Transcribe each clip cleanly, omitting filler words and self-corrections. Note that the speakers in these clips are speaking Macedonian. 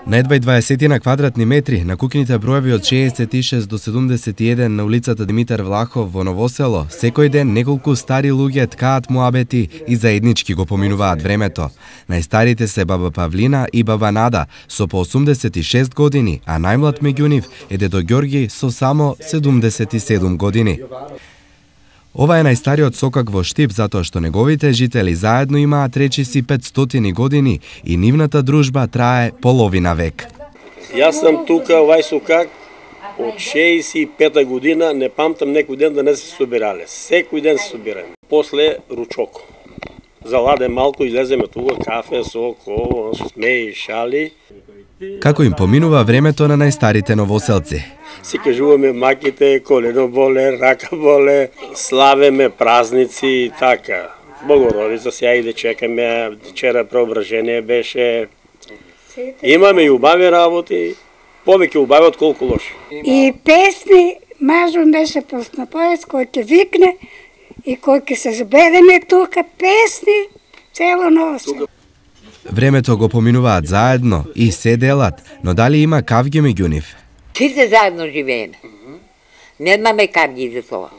На едва 20 на квадратни метри на куќните броеви од 66 до 71 на улицата Димитар Влахов во Новосело, секој ден неколку стари луѓе ткаат муабети и заеднички го поминуваат времето. Најстарите се баба Павлина и баба Нада со по 86 години, а најмлад меѓу нив е дедо Ѓорги со само 77 години. Ова е најстариот сокак во Штип затоа што неговите жители заедно имаат речиси 500 години и нивната дружба трае половина век. Јас сум тука овај сокак од 65 година, не памтам некој ден да не се собирале. Секој ден се собираме. После ручок. Заладе малку, излеземе тука, кафе, сок, ово, смеи, шали. Како им поминува времето на најстарите новоселци? Си кажуваме маките, колено боле, рака боле, славеме празници и така. Богородица сега и да чекаме, вчера преображение беше. Имаме и убави работи, повеќе убави од колку лоши. И песни, мажом беше пусна поез, кој ќе викне и кој ќе се збедеме тука, песни, цело новосело. Времето го поминуваат заедно и се делат, но дали има кавги меѓу нив? Сите заедно живееме. Немаме кавги за тоа.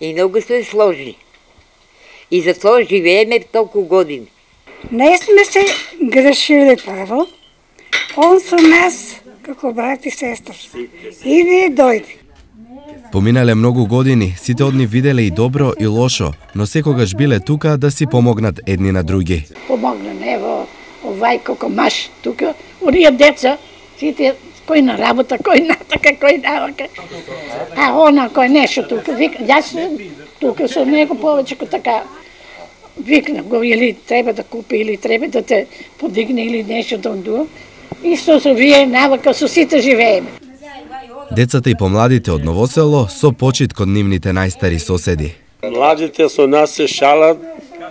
И многу се сложни. И за тоа живееме толку години. Не сме се грешили прво. Он со нас, како брат и сестра. Иди и дојди. Поминале многу години, сите од нив виделе и добро и лошо, но секогаш биле тука да си помогнат едни на други. Помогнем, ево, овај колко маш тука, оние деца, сите кој на работа, кој натака, кој навака. А она кој нешто тука, вика, јас тука со него повеќе така викна го, или треба да купи, или треба да те подигне, или нешто да. Исто со вие навака, со сите живееме. Децата и помладите од Новосело со почит кон нивните најстари соседи. Младите со нас се шалат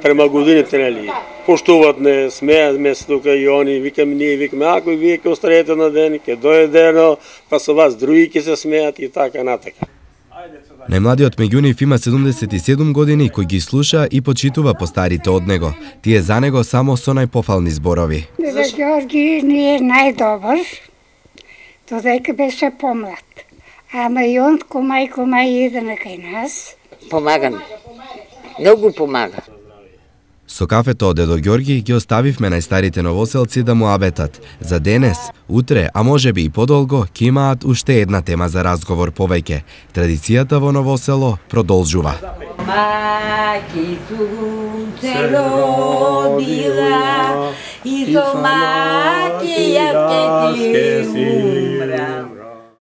према годините, нели? Поштуват не, смеат ме тука и они, викаме ние, викаме, ако вие ќе остареете на ден, ќе дојде дено, па со вас други ќе се смеат и така натака. Најмладиот меѓу нив има 77 години, кој ги слуша и почитува постарите од него. Тие за него само со најпофални зборови. Дедо Ѓорги ни е најдобар, додека беше помлад. Ама и он комај иде на кај нас. Помагаме. Многу помага. Со кафето од дедо Ѓорги ги оставивме најстарите новоселци да муабетат. За денес, утре, а можеби и подолго, ќе имаат уште една тема за разговор повеќе. Традицијата во Новосело продолжува. Маки сунце родила и со